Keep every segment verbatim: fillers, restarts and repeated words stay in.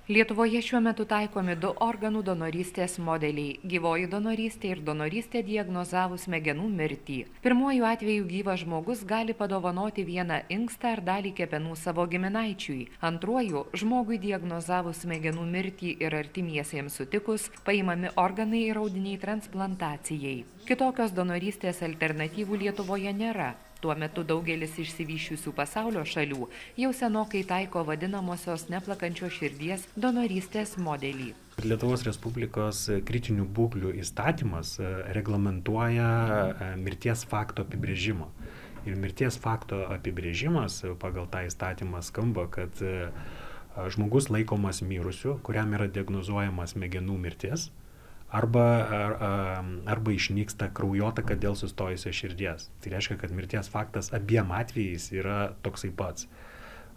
Lietuvoje šiuo metu taikomi du organų donorystės modeliai – gyvoji donorystė ir donorystė diagnozavus smegenų mirtį. Pirmuoju atveju gyvas žmogus gali padovanoti vieną inkstą ar dalį kepenų savo giminaičiui. Antruoju, žmogui diagnozavus smegenų mirtį ir artimiesiems sutikus, paimami organai ir audiniai transplantacijai. Kitokios donorystės alternatyvų Lietuvoje nėra. Tuo metu daugelis išsivysčiusių pasaulio šalių jau senokai taiko vadinamosios neplakančios širdies donorystės modelį. Lietuvos Respublikos kritinių būklių įstatymas reglamentuoja mirties fakto apibrėžimą. Ir mirties fakto apibrėžimas pagal tą įstatymą skamba, kad žmogus laikomas mirusiu, kuriam yra diagnozuojama smegenų mirtis, Arba, ar, arba išnyksta kraujotaka dėl sustojusios širdies. Tai reiškia, kad mirties faktas abiem atvejais yra toksai pats.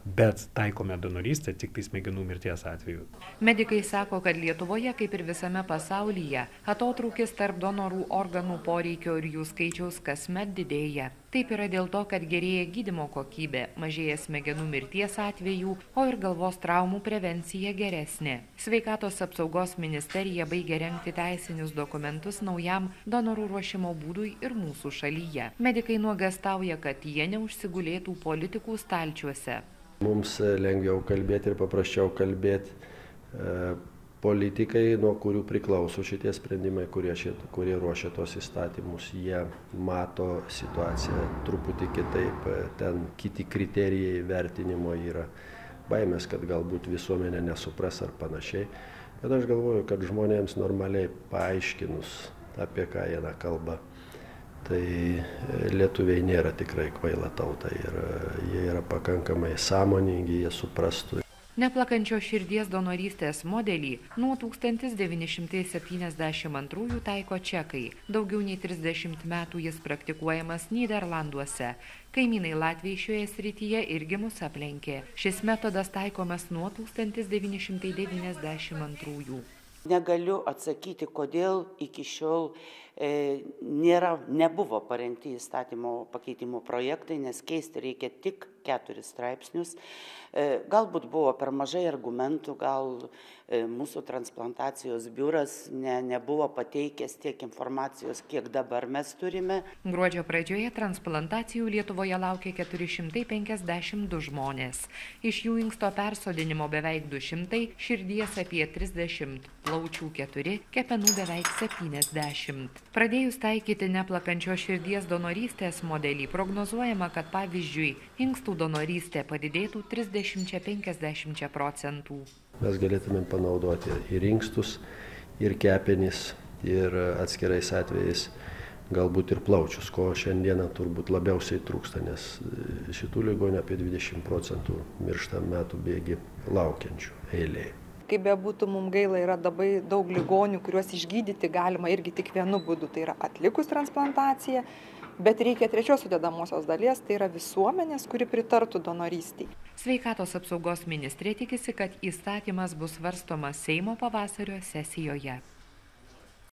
Bet taikome donorystę tik tai smegenų mirties atveju. Medikai sako, kad Lietuvoje, kaip ir visame pasaulyje, atotrūkis tarp donorų organų poreikio ir jų skaičiaus kasmet didėja. Taip yra dėl to, kad gerėja gydymo kokybė, mažėja smegenų mirties atvejų, o ir galvos traumų prevencija geresnė. Sveikatos apsaugos ministerija baigia rengti teisinius dokumentus naujam donorų ruošimo būdui ir mūsų šalyje. Medikai nuogąstauja, kad jie neužsigulėtų politikų stalčiuose. Mums lengviau kalbėti ir paprasčiau kalbėti. Politikai, nuo kurių priklauso šitie sprendimai, kurie, šit, kurie ruošia tos įstatymus, jie mato situaciją truputį kitaip, ten kiti kriterijai vertinimo yra. Baimės, kad galbūt visuomenė nesupras ar panašiai. Bet aš galvoju, kad žmonėms normaliai paaiškinus, apie ką eina kalba, tai lietuviai nėra tikrai kvaila tauta ir jie yra pakankamai sąmoningi, jie suprastų. Neplakančios širdies donorystės modelį nuo tūkstantis devyni šimtai septyniasdešimt antrųjų taiko čekai. Daugiau nei trisdešimt metų jis praktikuojamas Nyderlanduose. Kaimynai Latviai šioje srityje irgi mus aplenkė. Šis metodas taikomas nuo tūkstantis devyni šimtai devyniasdešimt antrųjų. Negaliu atsakyti, kodėl iki šiol e, nėra, nebuvo parengti įstatymo pakeitimo projektai, nes keisti reikia tik keturis straipsnius. E, galbūt buvo per mažai argumentų, gal e, mūsų transplantacijos biuras ne, nebuvo pateikęs tiek informacijos, kiek dabar mes turime. Gruodžio pradžioje transplantacijų Lietuvoje laukia keturi šimtai penkiasdešimt du žmonės. Iš jų inksto persodinimo beveik du šimtai, širdies apie trisdešimt, plaučių keturi, kepenų beveik septyniasdešimt. Pradėjus taikyti neplakančios širdies donorystės modelį, prognozuojama, kad pavyzdžiui, inkstų donorystė padidėtų trisdešimt iki penkiasdešimt procentų. Mes galėtume panaudoti ir inkstus, ir kepenis, ir atskirais atvejais galbūt ir plaučius, ko šiandieną turbūt labiausiai trūksta, nes šitų ligonių apie dvidešimt procentų miršta metų bėgi laukiančių eilėje. Kaip bebūtų, mums gaila, yra labai daug ligonių, kuriuos išgydyti galima irgi tik vienu būdu, tai yra atlikus transplantaciją, bet reikia trečios sudedamosios dalies, tai yra visuomenės, kuri pritartų donorystiai. Sveikatos apsaugos ministrė tikisi, kad įstatymas bus svarstomas Seimo pavasario sesijoje.